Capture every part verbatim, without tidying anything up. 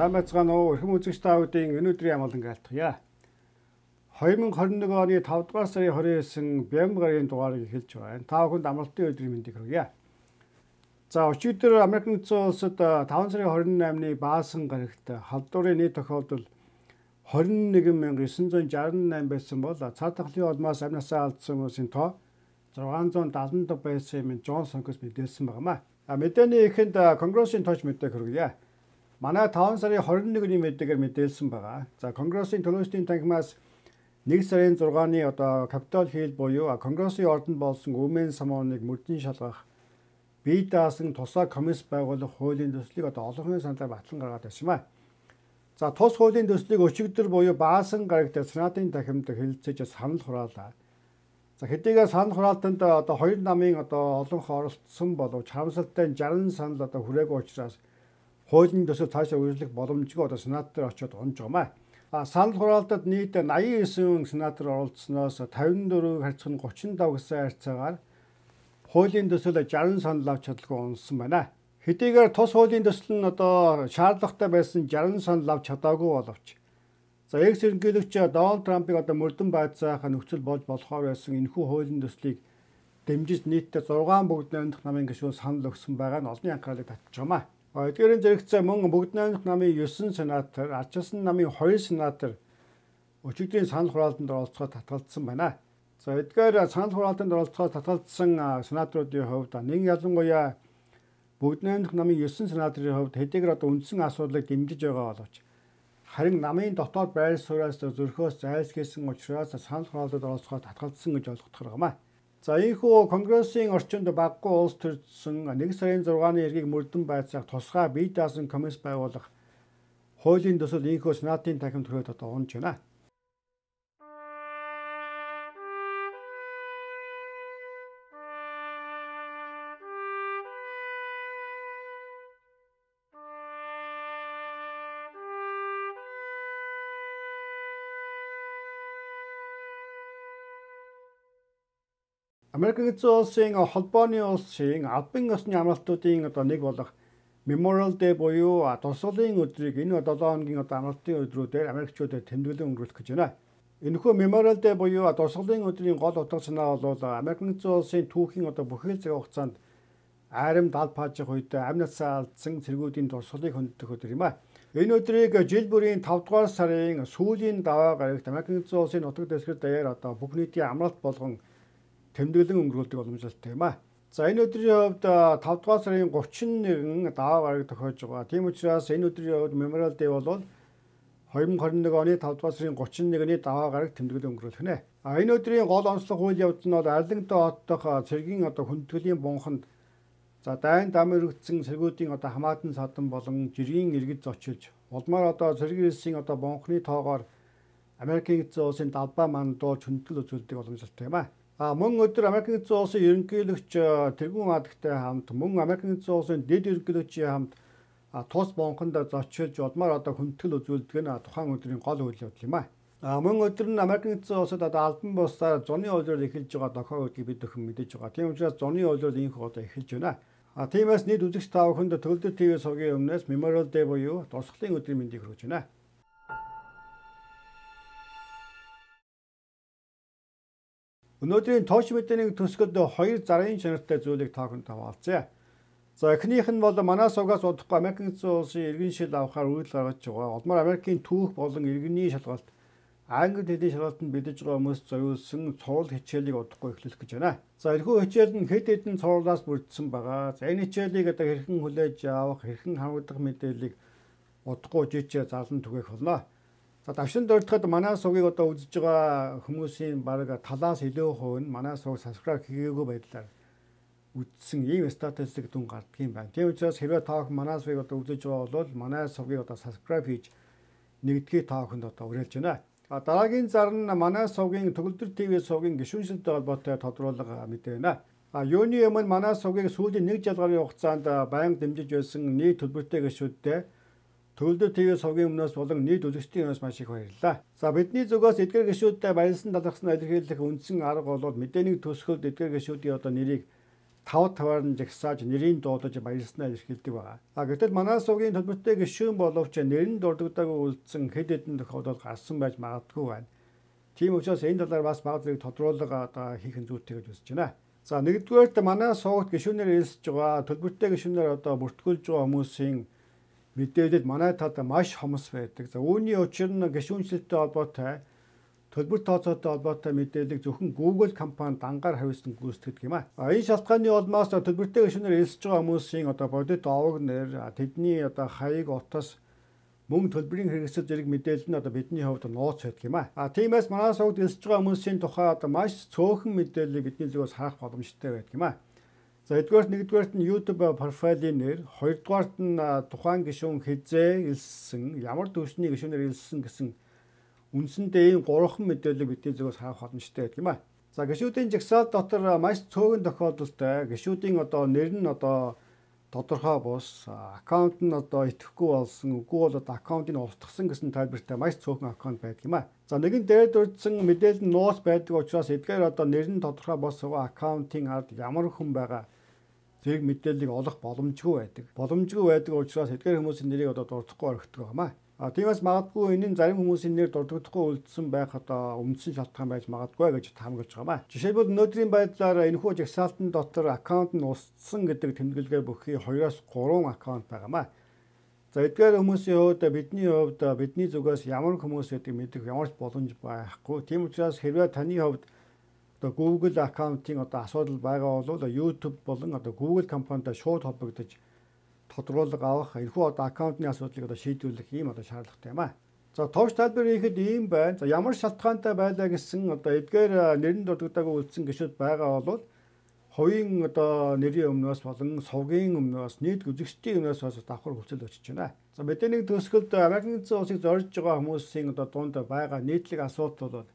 Сайн байцгаана уу? Эрхэм үзэгч та бүдийн өнөөдрийн амгалан айлтгая. two thousand twenty-one оны five дугаар сарын twenty-nine Бямбарын дугаарыг эхэлж байна. Та бүхэнд амралтын өдрийн мэндийг хүргье. За өчигдөр Америк нэгдсэн улсад five сарын twenty-eight-ны баасан гарагт халдварын нийт тохиолдол twenty-one thousand nine hundred sixty-eight байсан бол цаад тахлын улмаас амь насаа алдсан хүмүүсийн тоо six hundred seventy байсан юм Джон Сонкос мэдээлсэн байна. А мэдээний эхэнд Конгрессийн тооч мэдээг хүргье. Манай five сарын twenty-one-ны мэдээгээр мэдээлсэн байгаа. За Конгрессийн төлөөсдийн танхимаас one сарын six-ны одоо Capitol Hill буюу Конгрессийн ордонд болсон өмнө самууныг мөрдөн шалгах бие даасан тусаа комисс байгуулах хуулийн төслийг одоо олонхын саналаар батлан гаргаад байсан юм а. За тус хуулийн төслийг өчигдөр буюу баасан гарагт Сенатын танхимд хэлэлцэж санал хураалаа. За хэдийгээр санал хураалтанд одоо хоёр намын одоо олонх оролцсон боловч харамсалтай sixty санал одоо хүрээгүй учраас хуулийн төсөл цаашаа үргэлжлэх боломжгүй одоо Сенат дээр очиод унж байгаа. А санал хураалтад нийт ninety-nine сенатор оролцсноос fifty-four харьцах нь thirty-five гэсэн харьцаагаар хуулийн төсөл sixty санал авч чадлагүй унсан байна. Хэдийгээр тус хуулийн төсөл нь одоо шаардлагатай байсан sixty санал авч чадаагүй боловч за экс ерөнхийлөгч Дональд Трампыг одоо мөрдөн байцаах нөхцөл болж болохоор байсан энэхүү хуулийн төслийг дэмжиж нийтдээ six бүгд найрамдах намын гишүүн санал өгсөн байгаа нь олонний анхаарлыг татж байгаа. Эдгээрийн зэрэгцээ мөн бүгд найрамдах намын nine сенатор, ардчилсан намын two сенатор өчигдрийн санал хураалтанд оролцоход татгалзсан байна. За эдгээр санал хураалтанд оролцоход татгалзсан сенаторуудын хувьд нэг ялангуяа бүгд найрамдах намын nine сенаторын хувьд хэдийгээр одоо үндсэн асуудлыг дэмжиж байгаа боловч харин намын дотоод байр сууриас зөрхөөс зайлсхийсэн учраас санал хураалтанд оролцоход татгалзсан гэж ойлгох юм. За ийхүү Конгрессийн орчинд баггүй улс төрсөн one сарын six-ны эргийг мөрдөн байцаах тусгай бие даасан комисс байгуулах хуулийн төсөл ийхүү Сенатын танхимд хүрээд одоо унж байна. Америк нэгдсэн улсын холбооны улсын албан ёсны амралтуудын одоо нэг болох Memorial Day буюу тусгалын өдрийг энэ seven хоногийн одоо амралтын өдрүүдээр Америкчуудад тэмдэглэн өнгөрүүлэх гэж байна. Энэхүү Memorial Day буюу тусгалын өдрийн гол утга санаа бол Америк нэгдсэн улсын түүхийн одоо бүхэл цаг хугацаанд айрам дал паажих үед амь насаа алдсан цэргүүдийн тусгалыг хүндэх өдөр юм а. Энэ өдрийг жил бүрийн five дугаар сарын сүүлийн даваа гарагт Америк нэгдсэн улсын нутаг дэвсгэр даяар одоо бүх нийтийн амралт болгон тэмдэглэн өнгөрүүлдэг боломжтой юм а. За энэ өдрийн хувьд five дугаар сарын thirty-one даваа гараг тохиож байгаа. Тийм учраас энэ өдрийн хувьд Memorial Day бол twenty twenty-one оны five дугаар сарын thirty-one-ны даваа гараг тэмдэглэн өнгөрүүлэх нэ. А энэ өдрийн гол онцлог үйл явдал нь бол Арлингтон хот дахь цэргийн одоо хүндэтгэлийн бунханд за дайн дам өргөцсөн цэргүүдийн одоо хамаатан садан болон жирийн иргэд зочилж улмаар одоо цэргийн хэлсийн одоо бунхны тоогоор Америкийн нэгдсэн улсын далбаа мандууж хүндэтгэл үзүүлдэг боломжтой юм а. А мөн өдөр Америк нэгдсэн улсын ерөнхийлөгч тэргүүн адагтай хамт мөн Америк нэгдсэн улсын дэд ерөнхийлөгчийн хамт тус бунханд зочилж улмаар одоо хүндэтгэл үзүүлдэг нь тухайн өдрийн гол үйл явдал юм а. А мөн өдөр нь Америк нэгдсэн улсад одоо албан бусаар зуны үйлрэл эхэлж байгаа тохиол гэдгийг бид өхөн мэдэж байгаа. Тийм учраас зуны үйлрэл инх одоо эхэлж байна. А тиймээс нийт үзэгч та бүхэнд Төгөлдөр ТV сувгийн өмнөөс Memorial Day буюу тусгалын өдрийн мэндийг хүргэж байна. Өнөөдрийн тооч мэдээний төсгөлд хоёр зарын чанартай зүйлийг та бүхэнд хаваалцъя. За эхнийх нь бол манай сувгаас удахгүй Америк нэгдсэн улсын иргэн шил авахаар үйл гаргаж байгаа. Улмаар Америкийн түүх болон иргэний шалгалт англи хэлний шалгалтанд бэлдэж байгаа хүмүүс зориулсан цуврал хичээлийг удахгүй эхлүүлэх гэж байна. За энэхүү хичээл нь хэд хэдэн цувралаас бүрдсэн байгаа. За энэ хичээлийг одоо хэрхэн хүлээж авах, хэрхэн хамгаалах мэдээллийг удахгүй жижиг зарлан түгээх болно. За давшин дурдхад манай сувгийг одоо үзэж байгаа хүмүүсийн бараг талаас илүү хувь нь манай сувг subscribe хийгээгүй байдлаар үзсэн ийм статистик дүн гардаг юм байна. Тийм учраас хэрвээ та бүхэн манай сувгийг одоо үзэж байгаа бол манай сувгийг одоо subscribe хийж нэгдгээ та бүхэнд одоо уриалж байна. А дараагийн зар нь манай сувгийн Төгөлдөр ТV сувгийн гишүүншилтэй холбоотой тодруулга мэдээ байна. А юуны өмнө манай сувгийг сүүлийн нэг жил гаруй хугацаанд байнга дэмжиж байсан нийт төлбөртэй гишүүдтэй Төгөлдөр ТV сувгийн өмнөөс болон нийт үзэгчдийн өмнөөс маш их баярлалаа. За бидний зүгээс эдгээр гишүүдтэй баярлсан талархсан илэрхийлэх үндсэн арга бол мэдээний төсгөлд эдгээр гишүүдийн одоо нэрийг тав таваар нь жагсааж нэрийн дуудаж баярлснаа илэрхийлдэг байгаа. А гэтэл манай сувгийн төлбөртэй гишүүн боловч нэр нь дурддаггүй үлдсэн хэд хэдэн тохиолдол гарсан байж магадгүй байна. Тийм учраас энэ талаар бас бага зэрэг тодруулга одоо хийх нь зүйтэй гэж үзэж байна. За нэгдүгээрт манай сувгт гишүүнээр элсэж байгаа төлбөртэй гишүүнээр одоо бүртгүүлж байгаа хүмүүсийн мэдээлэл манай тад маш хомс байдаг. За үүний учир нь гишүүнчлэлтэй холбоотой төлбөр тооцоотой холбоотой мэдээллийг зөвхөн Google компани дангаар хариуцсан гүйцэтгэдэг юм а. Энэ шалтгааны улмаас төлбөртэй гишүүнээр элсэж байгаа хүмүүсийн одоо бодит овог нэр тэдний одоо хаяг утас мөн төлбөрийн хэрэгсэл зэрэг мэдээлэл нь одоо бидний хувьд нууц байдаг юм а. Тиймээс манай сувгд элсэж байгаа хүмүүсийн тухай одоо маш цөөхөн мэдээллийг бидний зүгээс харах боломжтой байдаг юм а. За эдгээрт нэгдүгээрт нь YouTube профилийн нэр, хоёрдугаарт нь тухайн гишүүн хизээ элссэн, ямар төвчний гишүүнээр элссэн гэсэн үндсэндээ ийм гурван мэдээлэл бидний зүгээс харах боломжтой байдаг юм а. За гишүүдийн жагсаал дотор маш цөөхөн тохиолдолтой гишүүдийн одоо нэр нь одоо тодорхой бус, аккаунт нь одоо итгэхгүй болсон, үгүй бол одоо аккаунтыг устгасан гэсэн тайлбартай маш цөөхөн аккаунт байдаг юм а. За нэгэн дээд урдсан мэдээлэл нь нууц байдаг учраас эдгээр одоо нэр нь тодорхой бос аккаунтын ард ямар хүн байгаа зэрэг мэдээллийг олох боломжгүй байдаг. Боломжгүй байдаг учраас эдгээр хүмүүсийн нэрийг одоо дурдахгүй орхидог юм а. А тиймээс магадгүй энэ нь зарим хүмүүсийн нэр дурддахгүй үлдсэн байх одоо үндсэн шалтгаан байж магадгүй гэж таамаглаж байгаа маа. Жишээлбэл өнөөдрийн байдлаар энэхүү жагсаалтын дотор аккаунт нь устсан гэдэг тэмдэглэгээ бүхий хоёроос гурван аккаунт байгаа маа. За эдгээр хүмүүсийн хувьд бидний хувьд бидний зүгээс ямар хүмүүс гэдэг мэдэх ямар ч боломж байхгүй. Тийм учраас хэрвээ таны хувьд одоо Google аккаунтын одоо асуудал байгаа бол YouTube болон одоо Google компанитай шууд холбогдож тодруулга авах энэхүү одоо аккаунтны асуудлыг одоо шийдвэрлэх ийм одоо шаардлагатай юм а. За товч тайлбар хийхэд ийм байна. За ямар шалтгаантай байлаа гэсэн одоо эдгээр нэрийн дурддаггүй үлдсэн гишүүд байгаа бол хувийн одоо нэрийн өмнөөс болон сувгийн өмнөөс нийт үзэгчдийн өмнөөс бас давхар хүлцэл очиж байна. За мэдээний төсгөлд Америкийн эзэн улсыг зорж байгаа хүмүүсийн одоо дунд байгаа нийтлэг асуудал бол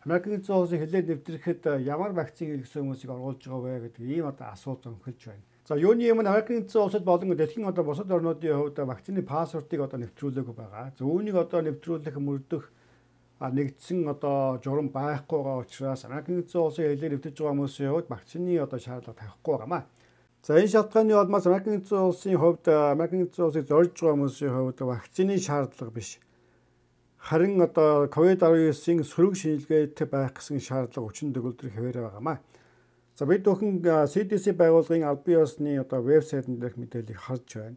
Америкийн эзэн улсыг хилээд нэвтрэхэд ямар вакцин хэрэглэсэн хүмүүсийг оруулж байгаа вэ гэдэг ийм одоо асуулт өнхөлж байна. За юуны юм Америкийн эзэн улсад болон дэлхийн одоо бусад орнуудын хувьд вакцины паспортыг одоо нэвтрүүлээгүй байгаа. За үүнийг одоо нэвтрүүлэх мөрдөх нэгдсэн одоо журам байхгүй байгаа учраас Америкийн эзэн улсын хилээр нэвтэж байгаа хүмүүсийн хувьд вакцины одоо шаардлага тавихгүй байгаамаа. За энэ шалтгааны улмаас Америкийн эзэн улсын хувьд Америкийн эзэн улсыг зорж байгаа хүмүүсийн хувьд вакцины шаардлага биш. Харин одоо ковид дасгалжуулагчийн сөрөг шинжилгээтэй байх гэсэн шаардлага хүчин төгөлдөр хэвээрээ байгаамаа. За бид бүхэн си ди си байгууллагын албан ёсны одоо вебсайтн дээрх мэдээллийг харж байна.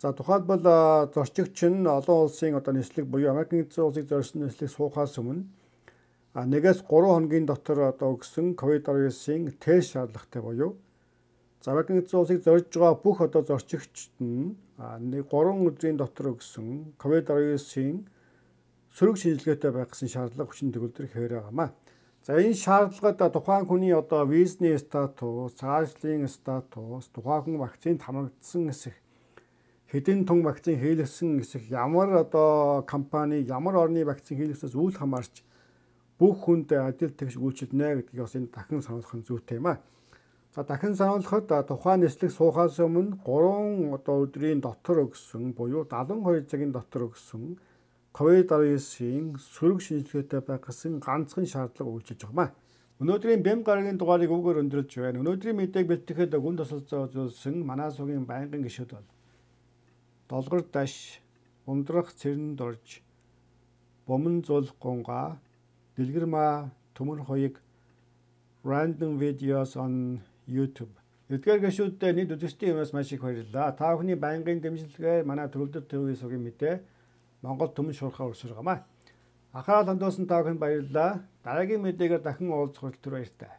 За тухайлбал зорчигч нь олон улсын одоо нислэг буюу Америкийн эзэн улсыг зорьсон нислэг суухаас өмнө нэгээс гурван хоногийн дотор одоо өгсөн ковид дасгалжуулагчийн тест шаардлагатай буюу за Америкийн эзэн улсыг зорж байгаа бүх одоо зорчигчд нь гурван өдрийн дотор өгсөн ковид дасгалжуулагчийн сөрөг шинжилгээтэй байх гэсэн шаардлага хүчин төгөлдөр хэвээр байгаамаа. За энэ шаардлагад тухайн хүний одоо визний статус, цаашлын статус, тухайн хүн вакцинд хамрагдсан эсэх, хэдэн тонн вакцин хийлгэсэн эсэх, ямар одоо компани, ямар орны вакцин хийлгэснээс үл хамаарч бүх хүнд адил тэгш үйлчилнэ гэдгийг бас энэ дахин сануулгах нь зүйтэй юм а. За дахин сануулгахад тухайн нислэг суухаас өмнө гурван одоо өдрийн дотор өгсөн буюу дадлан хоёр цагийн дотор өгсөн ковид дасгалжуулагчийн сөрөг шинжилгээтэй байх гэсэн ганцхан шаардлага үйлчилж байгаа юм. Өнөөдрийн бэм гарагийн дугаарыг өгөөр өндөрлж байна. Өнөөдрийн мэдээг бэлтгэхэд гүн тусалцаа үзүүлсэн манай сувгийн байнгын гишүүд бол Долгор Даш, Ундрах Цэрэн Дорж, Бомон Зул Гунга, Дэлгэрмаа Төмөр Хоёг, Random Videos on YouTube. Эдгээр гишүүдтэй нийт үзэгчдийн юмас маш их баярлалаа. Та бүхний байнгын дэмжлэгээр манай Төвлөрдөр телевизийн сувгийн мэдээ Монгол төмөн шуурхаа өрсөргөөмаа. Ахаад хандуулсан та бүхэнд баярлалаа. Дараагийн мэдээгээр дахин уулзах хүртэл баяртай.